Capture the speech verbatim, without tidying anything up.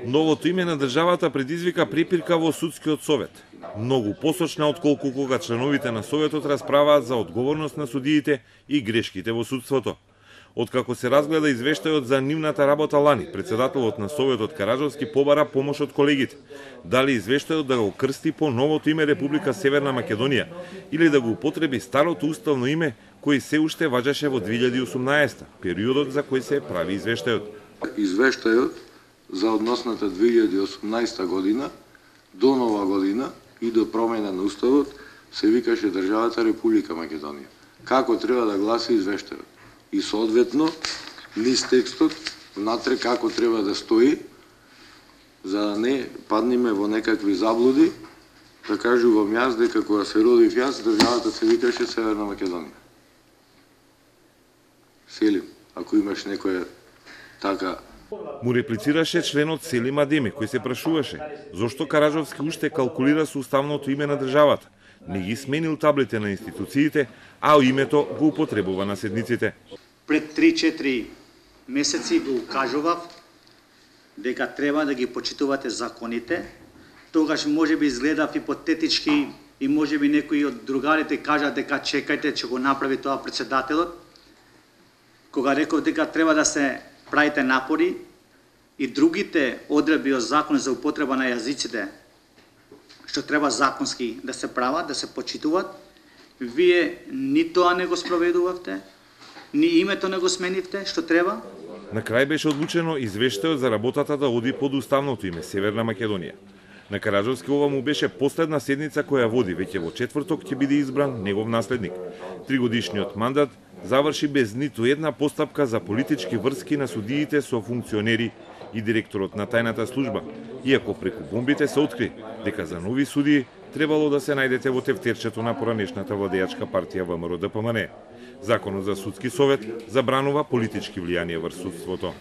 Новото име на државата предизвика препирка во судскиот совет. Многу посочна отколку кога членовите на советот расправаат за одговорност на судиите и грешките во судството. Откако се разгледа извештајот за нивната работа лани, председателот на советот Караджовски побара помош од колегите. Дали извештајот да го крсти по новото име Република Северна Македонија или да го употреби старото уставно име кој се уште важеше во две илјади и осумнаесета, периодот за кој се прави извештајот. Извештајот за односната две илјади и осумнаесета година до нова година и до промена на уставот се викаше државата Република Македонија. Како треба да гласи извештајот? И соодветно низ текстот внатре како треба да стои, за да не падниме во некакви заблуди, да кажувам јас дека кога се родив јас, државата се викаше Северна Македонија. Селим, ако имаш некоја така... Му реплицираше членот Селим Адеми, кој се прашуваше зошто Караджовски уште калкулира со уставното име на државата. Не ги сменил таблите на институциите, а името го употребува на седниците. Пред три-четири месеци го кажував дека треба да ги почитувате законите. Тогаш може би изгледав ипотетички и може би некои од другарите кажат дека чекајте, че го направи тоа председателот. Кога реков дека треба да се правите напори и другите одредби од закон за употреба на јазиците, што треба законски да се прават, да се почитуваат, вие ни тоа не го спроведувавте, ни името не го сменивте, што треба. На крај беше одлучено извештајот за работата да оди под уставното име Северна Македонија. На Караджовски ова му беше последна седница која води, веќе во четврток ќе биде избран негов наследник. Тригодишниот мандат заврши без ниту една постапка за политички врски на судиите со функционери и директорот на тајната служба, иако преку бомбите се откри дека за нови судии требало да се најдете во тефтерчето на поранешната владеачка партија ВМРО Д П М Н. Законот за судски совет забранува политички влијанија врз судството.